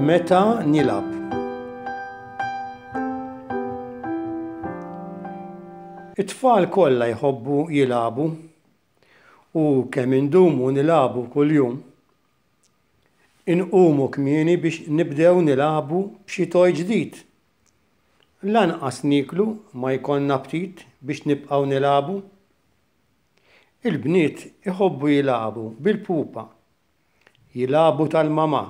Meta nilgħab. It-tfal kollha jħobbu jilagħbu u kemm indumu nilagħbu kuljum. Inqumu kmieni biex nibdew nilagħbu b'xi toy ġdid. Lanqas nieklu ma jkollna aptit biex nibqgħu nilagħbu. Il-bniet iħobbu jilagħbu bil-pupa. Jilagħbu tal-mamà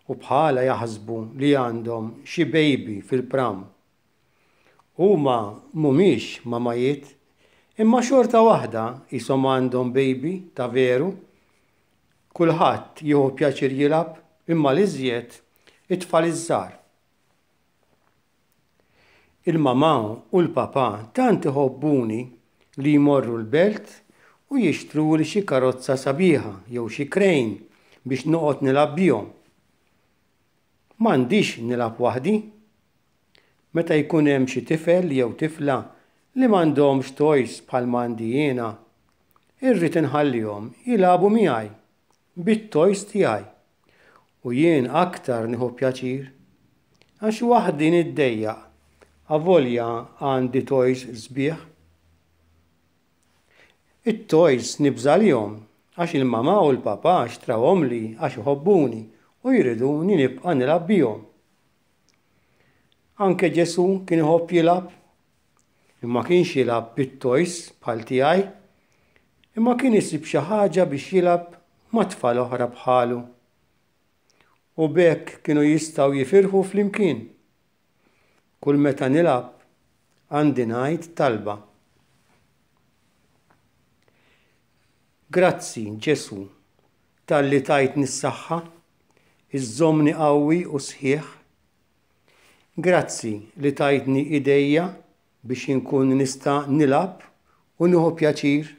u bħalha jaħsbu li għandhom xi baby fil-pram. Huma mhumiex mamajiet imma xorta waħda qishom għandhom baby ta' veru. Kulħadd jieħu pjaċir jilgħab imma l-iżjed it-tfal iż-żgħar. Il-mamà u l-papà tant iħobbuni li jmorru l-belt u jixtruli xi karozza sabiħa jew xi crane biex noqgħod nilgħab bihom. M'għandix nilgħab waħdi. Meta jkun hemm xi tifel jew tifla li m'għandhomx toys bħalma għandi jiena, irrid inħallihom jilagħbu miegħi bit-toys tiegħi. U jien aktar nieħu pjaċir. Għax waħdi niddejjaq avolja għandi toys sbieħ. It-toys nibża' għalihom għax il-mamà u l-papà xtrawhomli għax iħobbuni u jriduni nibqa' nilgħab bihom. Anke Ġesù kien iħobb jilgħab. Imma kienx jilgħab bit-toys bħal tiegħi. Imma kien isib xi ħaġa biex jilgħab ma' tfal oħra bħalu. U b'hekk kienu jistgħu jifirħu flimkien. Kull meta nilgħab għandi ngħid talba. Grazzi, Ġesù, talli tajtni s-saħħa, iżżommni qawwi u sħiħ. Grazzi li tajtni idejja biex inkun nista' nilgħab u nieħu pjaċir.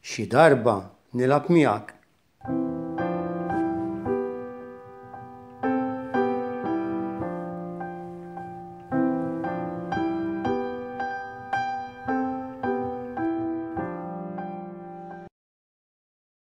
Xi darba nilgħab miegħek.